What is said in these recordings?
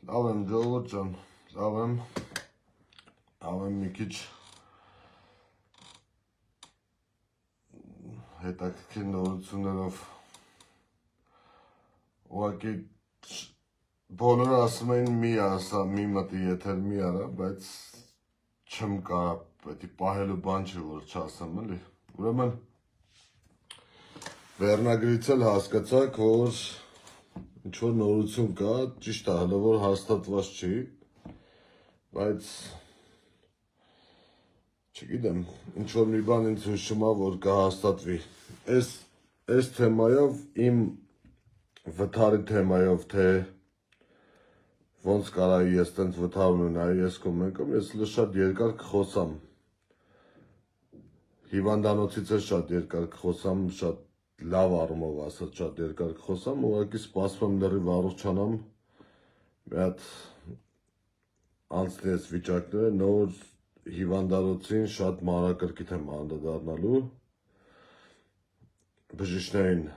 Լավ եմ ժողովուրդ ջան, լավ եմ մի քիչ հետաքրքիր նորություններով ուղղակի բոլորը ասում էին մի ասա, մի մտի եթեր մի արա, բայց չեմ կարա, պետք է պահելու բան չի, որ չասեմ, էլի։ Ուրեմն վերնագրից էլ հասկացաք, որ ինչ-որ նորություն կա, ճիշտ է, հələ որ հաստատված չի, բայց չգիտեմ, ինչ-որ մի բան ինձ հույս չմա, որ կհաստատվի։ Այս թեմայով, իմ վթարի թեմայով, թե ոնց կարայի ես տենց վթար ունենայի, ես կոմենկում, ես շատ երկար կխոսամ։ Հիվանդանոցից է շատ երկար կխոսամ, շատ լավ առումով ասած շատ երկար կխոսամ, ուղղակի սպասում եմ լրիվ առողջանամ, մի հատ անցնի այս վիճակները, նոր հիվանդանոցին շատ մանրակրկիտ եմ անդրադառնալու, բժիշկներին,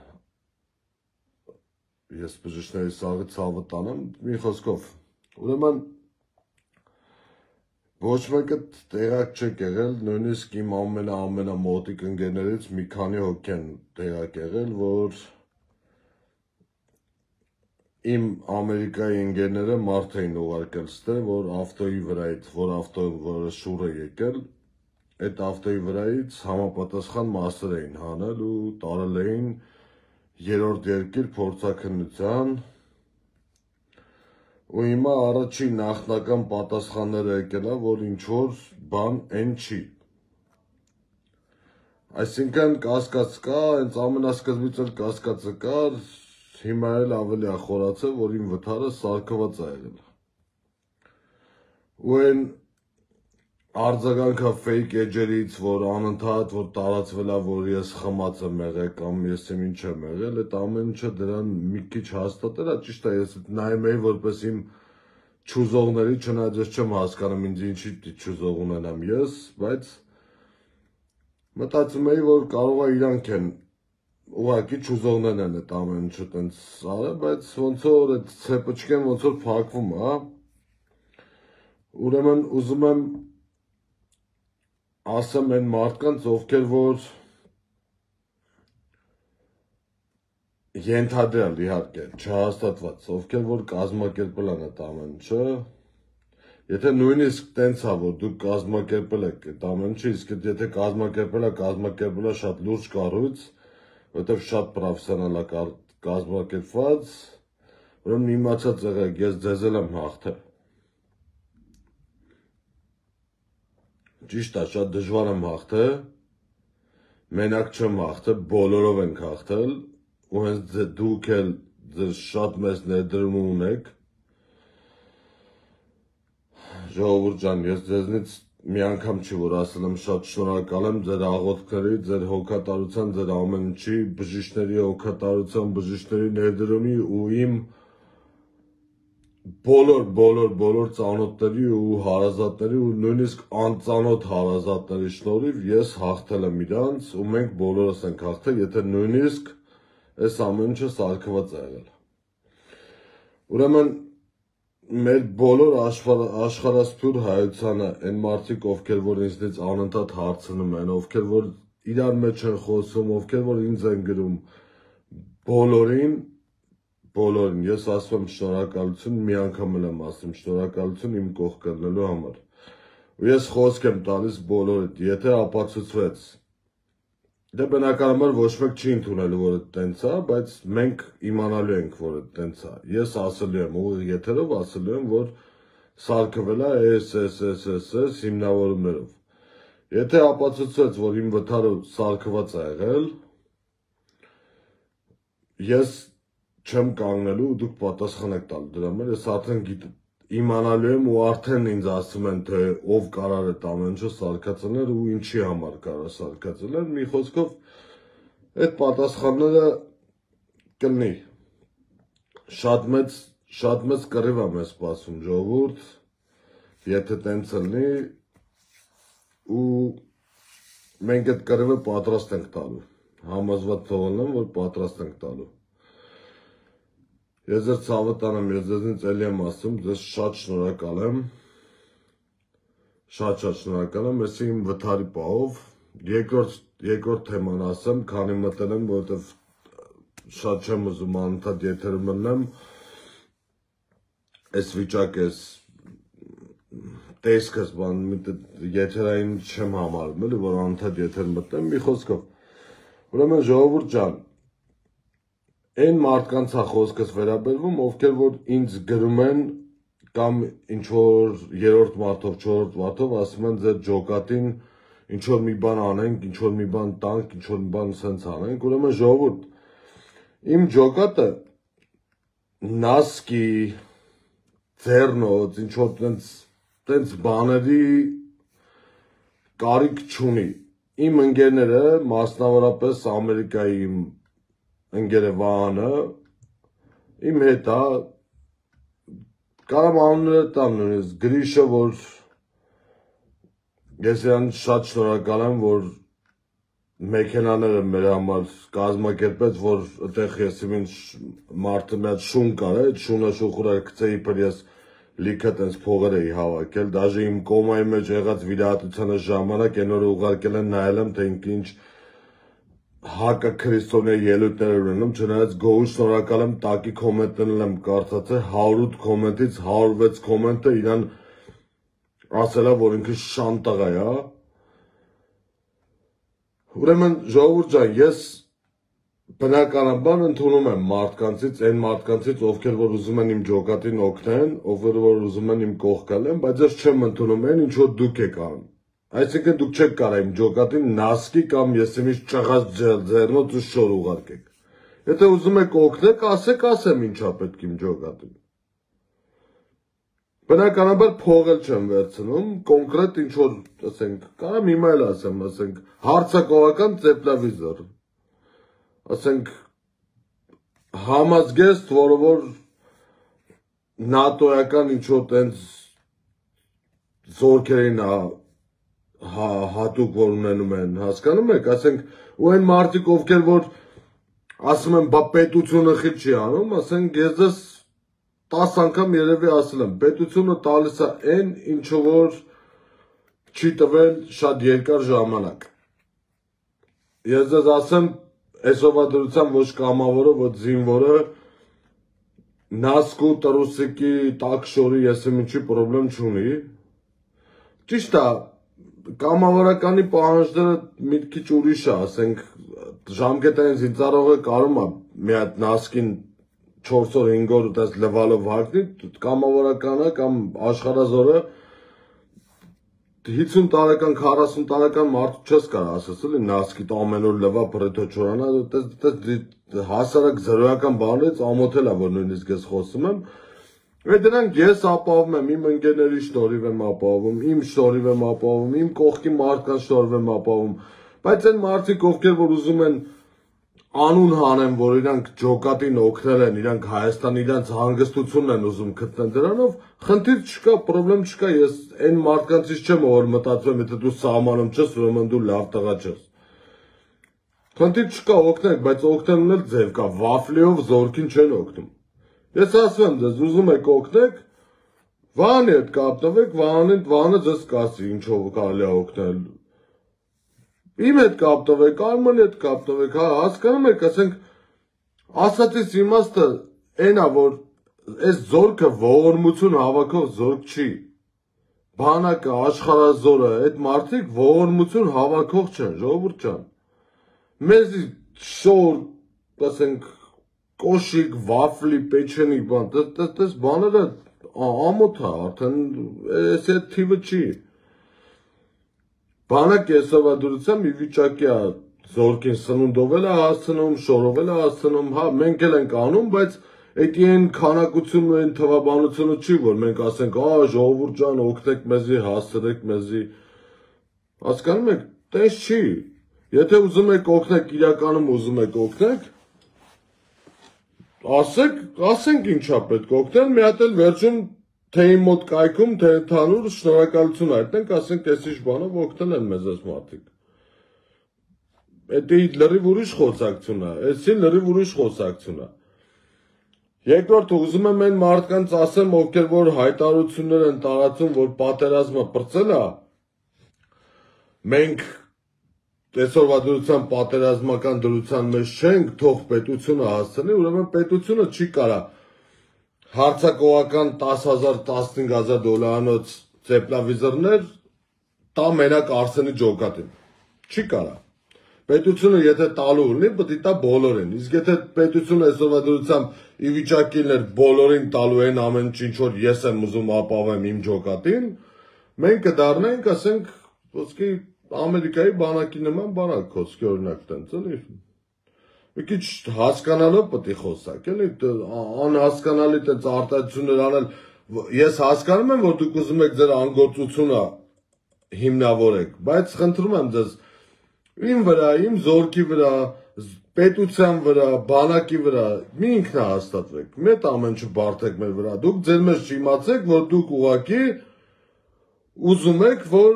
ես բժիշկների սաղի ցավը տանեմ, մի խոսքով, ուրեմն ոչ մեկը տեղակ չեք եղել, նույնիսկ իմ ամենամոտիկ ընկերներից մի քանի հոգի են տեղակ եղել, որ իմ Ամերիկայի ընկերները մարդ էին ուղարկել ստե, որ ավտոյի վրայից, որ ավտոյը, որը շուռ է եկել, այդ ավտոյի վրայից համապատասխան մասեր էին հանել ու տարել էին երրորդ երկիր փորձաքննության ու հիմա առաջին նախնական պատասխանները եկել է, որ ինչ-որ բան են չի։ Այսինքն կասկած կա, հենց ամենասկզբից էլ կասկածը կար, հիմա էլ ավելի է խորացել, որ իմ վթարը սարքված է եղել։ Ու այն արձագանքը fake էջերից, որ անընդհատ որ տարածվել է, որ ես խմած եմ եղել կամ ես ինչ եմ եղել, այդ ամեն ինչը դրան մի քիչ հաստատել է, ճիշտ է, ես նայում էի որպես իմ չուզողների, չնայած ես չեմ հասկանում ինձ ինչի չուզող ունենամ ես, բայց մտածում էի, որ կարող է իրանք են ուղղակի չուզողներն են այդ ամեն ինչը տենց արել, բայց ոնց որ այդ ցեպոչկեն ոնց որ փակվում է, ուրեմն ուզում եմ ասեմ այն մարդկանց, ովքեր որ ենթադրյալ իհարկե, չհաստատված, ովքեր որ կազմակերպել են այդ ամեն ինչը, եթե նույնիսկ տենց է, որ դուք կազմակերպել եք այդ ամեն ինչը, իսկ եթե կազմակերպել է շատ լուրջ կառույց, որտեղ շատ պրոֆեսիոնալ է կազմակերպված, ուրեմն իմացած եղեք, ես ձեզ էլ եմ հաղթել։ Ճիշտ է, շատ դժվար եմ հաղթել, մենակ չեմ հաղթել, բոլորով ենք հաղթել, ու հենց դուք էլ ձեզ շատ մեծ ներդրում ունեք։ Ժողովուրդ ջան, ես ձեզնից մի անգամ չի, որ ասել եմ շատ շնորհակալ եմ ձեր աղոթքների, ձեր հոգատարության, ձեր ամեն ինչի, բժիշկների հոգատարության, բժիշկների ներդրումի ու իմ բոլոր ծանոթների ու հարազատների ու նույնիսկ անծանոթ հարազատների շնորհիվ ես հաղթել եմ իրանց ու մենք բոլորս ենք հաղթել, եթե նույնիսկ այս ամեն ինչը սարքված է եղել։ Ուրեմն մեր բոլոր աշխարհասփյուր հայությանը այն մարդիկ, ովքեր որ ինձնից անընդհատ հարցնում են, ովքեր որ իրար մեջ են խոսում, ովքեր որ ինձ են գրում, բոլորին ես ասում եմ շնորհակալություն, մի անգամ էլ եմ ասում շնորհակալություն իմ կողք կրնելու համար։ Ու ես խոսք եմ տալիս բոլորիդ, եթե ապացուցվեց, դե բնականաբար ոչ մեկ չի ընդունելու, որ այդ տենց է, բայց մենք իմանալու ենք, որ այդ տենց է։ Ես ասելու եմ, ուղիղ եթերով ասելու եմ, որ սարքվել է այս հիմնավորումներով։ Եթե ապացուցվեց, որ իմ վթարը սարքված է եղել, ես չեմ կանգնելու ու դուք պատասխան եք տալու դրա համար, ես արդեն իմանալու եմ ու արդեն ինձ ասում են, թե ով կարար այդ ամեն ինչը սարքածներ ու ինչի համար կարա սարքածներ, մի խոսքով այդ պատասխանները կլինի։ Շատ մեծ կռիվ եմ ես սպասում ժողովուրդ, եթե տենց լինի ու մենք այդ կռիվը պատրաստ ենք տալու, համոզված թողնեմ, որ պատրաստ ենք տալու։ Ես ձեր ցավը տանեմ, ես ձեզնից էլի եմ ասում, ձեզ շատ շնորհակալ եմ։ Շատ շնորհակալ եմ, ես իմ վթարի պահով երկրորդ թեման ասեմ, քանի մտել եմ, որովհետև շատ չեմ ուզում անընդհատ եթերում մնամ, այս վիճակը, այս տեսքս եթերային չեմ համարում, էլի, որ անընդհատ եթեր մտնեմ, մի խոսքով։ Ուրեմն ժողովուրդ ջան, այն մարդկանց է խոսքս վերաբերվում, ովքեր որ ինձ գրում են կամ ինչ-որ երրորդ մարդով, չորրորդ մարդով ասում են ձեր ջոկատին ինչ-որ մի բան անենք, ինչ-որ մի բան տանք, ինչ-որ մի բան սենց անենք, ուրեմն ժողովուրդ, իմ ջոկատը նասկի, ձեռնոց, ինչ-որ տենց բաների կարիք չունի։ Իմ ընկերները, մասնավորապես Ամերիկայի իմ ընկերը Վահանը, իմ հետ է, կարամ անունները տամ նույնիսկ Գրիշը, որ ես իրան շատ շնորհակալ եմ, որ մեքենաները մեր համար կազմակերպեց, որ այդտեղ ես իմ մարդը մի հատ շուն կար, այդ շունը շուխուրը գցեի, որ ես լիքը տենց փողեր էի հավաքել, դաժե իմ կոմայի մեջ եղած վիրահատությանը ժամանակ այն օրը ուղարկել են նայել եմ, թե ինչ հակա քրիստոնյա ելույթներ ունենում, չնայած գոհուց շնորհակալ եմ, տակի կոմենտներն եմ կարդացել, 108 կոմենտից 106 կոմենտը իրան ասել է, որ ինքը շան տղա է։ Ուրեմն ժողովուրդ ջան, ես բնականաբար ընդունում եմ մարդկանցից, այն մարդկանցից, ովքեր որ ուզում են իմ ջոկատին օգնեն, ովքեր որ ուզում են իմ կողքալ են, բայց ես չեմ ընդունում այն, ինչ որ դուք եք անում։ Այսինքն դուք չեք կարող իմ ջոկատին նասկի կամ ես իմից ճղած ձեռնոց ու շոր ուղարկեք։ Եթե ուզում եք օգնեք, ասեմ ինչա պետք իմ ջոկատին։ Բնականաբար փող էլ չեմ վերցնում, կոնկրետ ինչ որ, ասենք, կարամ հիմա էլ ասեմ, ասենք, հարցակողական տեպլավիզոր։ Ասենք, համազգեստ, որը որ նատոյական ինչ որ տենց զորքերին հատուկ որ ունենում են, հասկանում եք, ասենք, ու այն մարդիկ, ովքեր որ ասում են, բա պետությունը խիլ չի անում, ասենք, ես ձեզ 10 անգամ երևի ասել եմ, պետությունը տալիս է այն, ինչը որ չի տվել շատ երկար ժամանակ։ Ես ձեզ ասեմ, այսօրվա դրությամբ ոչ կամավորը, ոչ զինվորը, նասկու, տրուսիկի, տաքշորի, ես եմ ինչի պրոբլեմ չունի։ Ճիշտ է, կամավորականի պահանջները մի քիչ ուրիշ է, ասենք, ժամկետային զինծառայողը կարող է մի հատ նասկին 4 օր 5 օր դες լվալով հագնի, կամավորականը կամ աշխարհազորը 50 տարեկան, 40 տարեկան մարդու չես կարող ասես, էլի նասկիտ ամեն օր լվա բրեթո չորանա, հասարակ զրոյական բաներից ամոթել է, որ նույնիսկ ես խոսում եմ։ Այդ դրանք ես ապահովում եմ, իմ ընկերների շնորհիվ եմ ապահովում, իմ շնորհիվ եմ ապահովում, իմ կողքի մարդկանց շնորհիվ եմ ապահովում, բայց այն մարդիկ, ովքեր որ ուզում են անուն հանեն, որ իրանք ջոկատին օգնել են, իրանք Հայաստան իրանք հանգստությունն են ուզում գտնել դրանով, խնդիր չկա, պրոբլեմ չկա, ես այն մարդկանցից չեմ, որ մտածում եմ, եթե դու սահմանում չես, ուրեմն դու լավ տղա չես։ Խնդիր չկա, օգնեք, բայց օգնելն էլ ձև կա, վաֆլիով զորքին չեն օգնում։ Ես ասում եմ ձեզ, ուզում եք օգնեք, Վահանի հետ կապնվեք, Վահանը ձեզ կասի ինչով կարելի է օգնել։ Իմ հետ կապնվեք, Արմանի հետ կապնվեք, հասկանում եք, ասենք, ասածից իմաստը այն է, որ այս զորքը ողորմություն հավաքող զորք չի։ Բանակը, աշխարհազորը, այդ մարդիկ ողորմություն հավաքող չեն, ժողովուրդ ջան։ Մեզի շոր, ասենք, կոշիկ, վաֆլի, պեչենի բան, դες բաները ամոթ է, արդեն այս այդ թիվը չի։ Բանակ այսօրվա դրությամբ մի վիճակի է զորքին սնունդով էլ է հասցնում, շորով էլ է հասցնում, հա, մենք էլ ենք անում, բայց այդ այն քանակությունն ու այն թվաբանությունը չի, որ մենք ասենք, ժողովուրդ ջան, օգնեք մեզի, հասցրեք մեզի։ Հասկանում եք, տես չի։ Եթե ուզում եք օգնեք, իրականում ուզում եք օգնեք, ասենք ինչա պետք օգնել, մի հատ էլ վերջում թե իմ մոտ կայքում, թե ընդհանուր շնորհակալություն հայտնենք, ասենք այս ինչ բանով օգնել են մեզ այս մարդիկ։ Դա լրիվ ուրիշ խոսակցություն է, այսին լրիվ ուրիշ խոսակցություն է։ Երկրորդ ուզում եմ այն մարդկանց ասեմ, ովքեր որ հայտարարություններ են տարածում, որ պատերազմը պրծել է, մենք այսօրվա դրության պատերազմական դրության մեջ չենք, թող պետությունը հասցնի, ուրեմն պետությունը չի կարա հարցակողական 10,000, 15,000 դոլարանոց ծեպլավիզորներ տա մենակ Արսենի ջոկատին, չի կարա։ Պետությունը եթե տալու ունի, պետք է տա բոլորին, իսկ եթե պետությունը այսօրվա դրությամբ ի վիճակի լիներ բոլորին տալու են ամեն ինչ, որ ես եմ ուզում ապավեմ իմ ջոկատին, մենք կդառնանք, ասենք, ոսկի Ամերիկայի բանակի նման բանակ, ոսկի օրինակ տենց, էլի։ Մի քիչ հասկանալով պետք է խոսակ, էլի, անհասկանալի տենց արտահայտություններ անել, ես հասկանում եմ, որ դուք ուզում եք ձեր անգործությունը հիմնավորեք, բայց խնդրում եմ ձեզ իմ վրա, իմ զորքի վրա, պետության վրա, բանակի վրա մի ինքնահաստատվեք, մեծ ամեն ինչ բարդեք մեր վրա, դուք ձեր մեջ չիմացեք, որ դուք ուղղակի ուզում եք, որ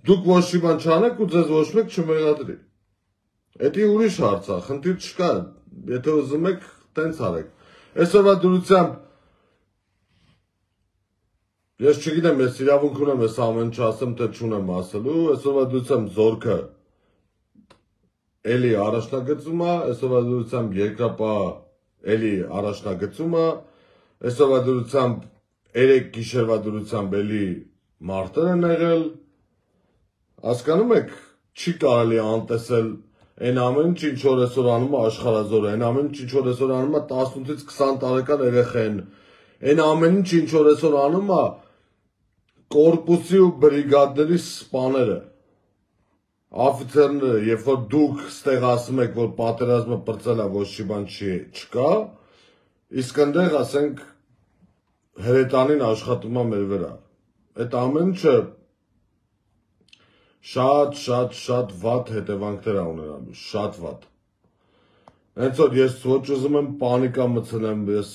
դուք ոչ մի բան չանեք ու ձեզ ոչ մեկ չմեղադրի։ Դա ուրիշ հարց է, խնդիր չկա, եթե ուզում եք, տենց արեք։ Այսօրվա դրությամբ ես չգիտեմ, ես իրավունք ունեմ ես ամեն ինչ ասեմ, թե չունեմ ասելու, այսօրվա դրությամբ զորքը էլի առաջնագծում է, այսօրվա դրությամբ երկրապահ էլի առաջնագծում է, այսօրվա դրությամբ 3 գիշերվա դրությամբ էլի մարտեր են եղել, հասկանում եք, չի կարելի անտեսել այն ամեն ինչ, ինչ որ այսօր անում է աշխարհազորը, այն ամեն ինչ, ինչ որ այսօր անում է 18-ից 20 տարեկան երեխեն, այն ամեն ինչ, ինչ որ այսօր անում է կորպուսի ու բրիգադների սպաները, աֆիցերները, երբ որ դուք ստեղ ասում եք, որ պատերազմը պրծել է, ոչ մի բան չկա, իսկ այնտեղ ասենք հրետանին աշխատում է մեր վրա։ Այդ ամեն ինչը շատ վատ հետևանքներ է ունենալու, շատ վատ։ Հենց որ ես ոչ ուզում եմ պանիկա մտցնեմ, ես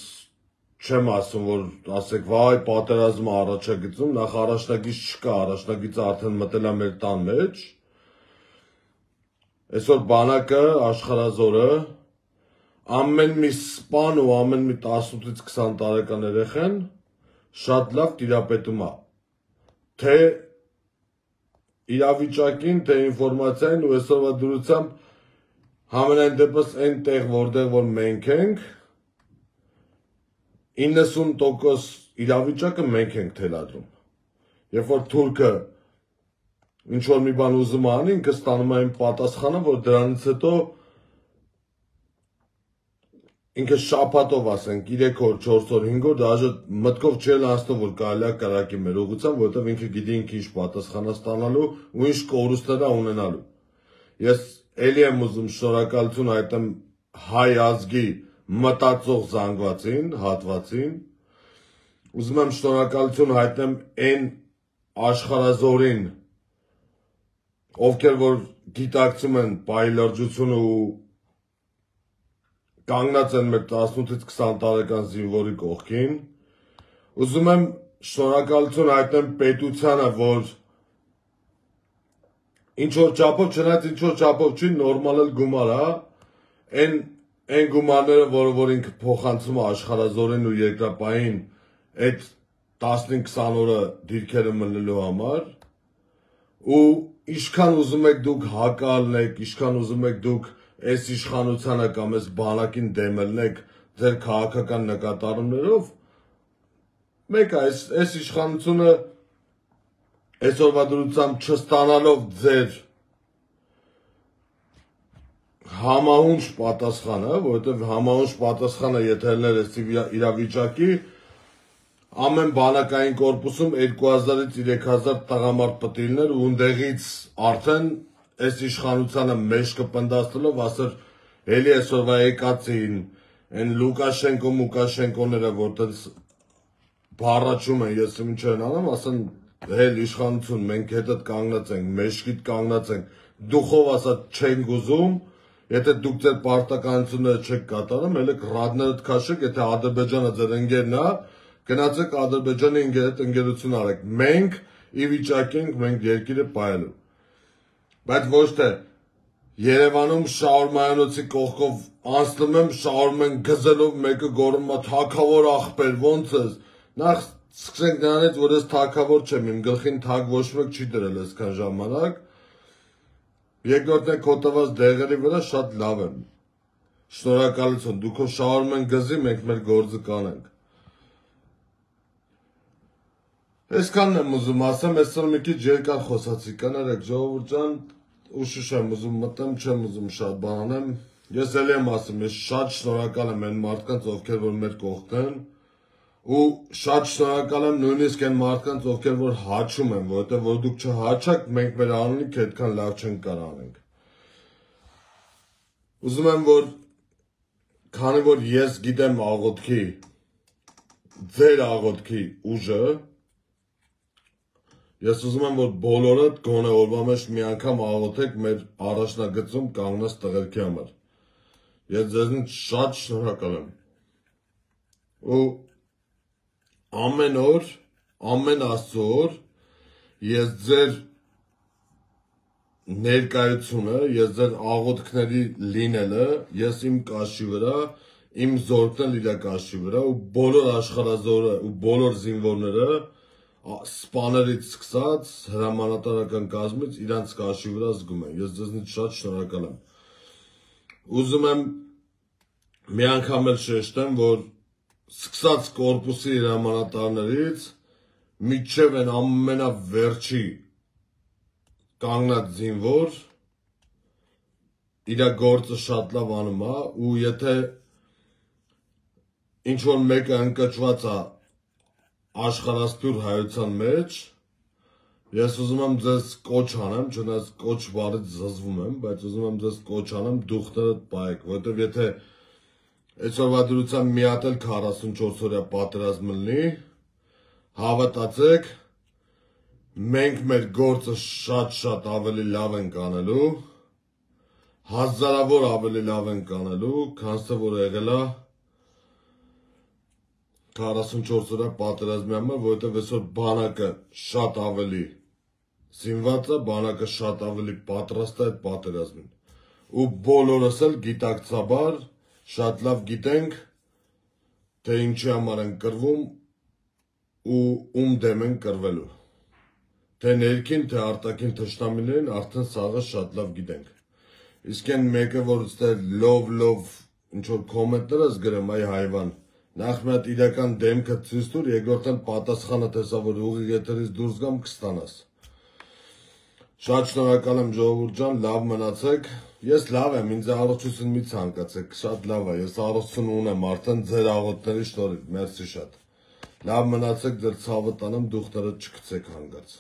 չեմ ասում, որ ասեք, վայ, պատերազմը առաջագծում, նախ առաջնագիծ չկա, առաջնագիծը արդեն մտել է մեր տան մեջ։ Այսօր բանակը, աշխարհազորը, ամեն մի սպան ու ամեն մի 18-ից 20 տարեկան երեխան շատ լավ տիրապետում է, թե իրավիճակին, թե ինֆորմացիային ու այսօրվա դրությամբ համենայն դեպս այն տեղ, որտեղ որ մենք ենք, 90% իրավիճակը մենք ենք թելադրում։ Երբ որ թուրքը ինչ որ մի բան ուզում անի, ինքը ստանում է այն պատասխանը, որ դրանից հետո ինքը շաբաթով ասենք 3 օր, 4 օր, 5 օր, դաժե մտքով չէր անցնում, որ կարելի է կրակի մեր ուղղությամբ, որովհետև ինքը գիտի ինքը ինչ պատասխան է ստանալու ու ինչ կորուստներ է ունենալու։ Ես էլի եմ ուզում շնորհակալություն հայտնեմ հայ ազգի մտածող զանգվածին, հատվածին, ուզում եմ շնորհակալություն հայտնեմ այն աշխարհազորին, ովքեր որ գիտակցում են պահի լրջությունը ու կանգնած են մեր 18-ից 20 տարեկան զինվորի կողքին, ուզում եմ շնորհակալություն հայտնեմ պետությանը, որ ինչ որ չափով, չնայած ինչ որ չափով չի, նորմալ էլ գումար է, այն գումարները, որ ինքը փոխանցում է աշխարհազորին ու երկրապահին այդ 15-20 օրը դիրքերը մնելու համար, ու ինչքան ուզում եք դուք հակալնեք, ինչքան ուզում եք դուք այս իշխանությանը կամ այս բանակին դեմելնեք ձեր քաղաքական նկատառումներով, մեկ այս իշխանությունը այսօրվա դրությամբ չստանալով ձեր համահունչ պատասխանը, որովհետև համահունչ պատասխանը եթե լիներ այս իրավիճակի, ամեն բանակային կորպուսում 2000-ից 3000 տղամարդ պետք է լիներ ու ընդեղից արդեն այս իշխանությանը մեջ կպնդաստելով ասեր, էլի այսօրվա եկածին, այն Լուկաշենկոները, որտեղ բառաչում են, ես ինչ են անում, ասեն, հել իշխանություն, մենք հետդ կանգնած ենք, մեջքիդ կանգնած ենք, դուխով ասած չենք ուզում, եթե դուք ձեր պարտականությունները չեք կատարում, հելեք ռադներդ քաշեք, եթե Ադրբեջանը ձեր ընկերն է, գնացեք Ադրբեջանի հետ ընկերություն արեք, մենք ի վիճակի ենք, մենք երկիրը պահելու։ Բայց ոչ թե Երևանում շաուրմայանոցի կողքով անցնում եմ, շաուրմ են գզելով, մեկը գոռում է թագավոր ախպեր, ոնց ես։ Նախ սկսենք նրանից, որ ես թագավոր չեմ, իմ գլխին թագ ոչ մեկ չի դրել այսքան ժամանակ։ Երկրորդն է քո տված դեղերի վրա շատ լավ եմ։ Շնորհակալություն, դու քո շաուրմեն գզի, մենք մեր գործը կանենք։ Այսքանն եմ ուզում ասեմ, այսօր մի քիչ երկար խոսացի, կներեք ժողովուրդ ջան, ուշուշ եմ ուզում մտեմ, չեմ ուզում շատ բան անեմ։ Ես էլի եմ ասում, ես շատ շնորհակալ եմ այն մարդկանց, ովքեր որ մեր կողքն են, ու շատ շնորհակալ եմ նույնիսկ այն մարդկանց, ովքեր որ հաչում են, որովհետև որ դուք չհաչաք, մենք մեր անունիք այդքան լավ չենք կարող անենք։ Ուզում եմ, որ քանի որ ես գիտեմ աղոթքի, ձեր աղոթքի ուժը, ես ուզում եմ, որ բոլորդ գոնե օրվա մեջ մի անգամ աղոթեք մեր առաջնագծում կանգնած տղերքի համար։ Ես ձեզնից շատ շնորհակալ եմ։ Ու ամեն օր, ամեն Աստծո օր ես ձեր ներկայությունը, ես ձեր աղոթքների լինելը, ես իմ կաշի վրա, իմ զորքն իր կաշի վրա ու բոլոր աշխարհազորը ու բոլոր զինվորները սպաներից սկսած հրամանատարական կազմից իրանց կաշի վրա զգում են։ Ես ձեզնից շատ շնորհակալ եմ։ Ուզում եմ մի անգամ էլ շեշտեմ, որ սկսած կորպուսի հրամանատարներից մինչև այն ամենավերջի կանգնած զինվոր իր գործը շատ լավ անում է ու եթե ինչ որ մեկը ընկճված է աշխարհասփյուր հայության մեջ, ես ուզում եմ ձեզ կոչ անեմ, չնայած կոչ բառից զզվում եմ, բայց ուզում եմ ձեզ կոչ անեմ դուխներդ պահեք, որովհետև եթե այսօրվա դրությամբ մի հատ էլ 44-օրյա պատերազմ լինի, հավատացեք, մենք մեր գործը շատ ավելի լավ ենք անելու, հազարավոր ավելի լավ ենք անելու, քան որ եղել է 44-օրյա պատերազմի համար, որովհետև այսօր բանակը շատ ավելի զինված է, բանակը շատ ավելի պատրաստ է այդ պատերազմին։ Ու բոլորս էլ գիտակցաբար շատ լավ գիտենք, թե ինչի համար են կռվում ու ում դեմ են կռվելու։ Թե ներքին, թե արտաքին թշնամիներին արդեն սաղը շատ լավ գիտենք։ Իսկ այն մեկը, որ ստեղ լով ինչ որ կոմենտներ ես գրում, այ հայվան, նախ մի հատ իրական դեմքը ցույց տուր, երկրորդն պատասխանը տեսա, որ ուղիղ եթերից դուրս գամ կստանաս։ Շատ շնորհակալ եմ ժողովուրդ ջան, լավ մնացեք։ Ես լավ եմ, ինձ առողջություն մի ցանկացեք, շատ լավ է, ես առողջություն ունեմ արդեն ձեր աղոթքների շնորհիվ, մերսի շատ։ Լավ մնացեք, ձեր ցավը տանեմ, դուխները չգցեք հանգած։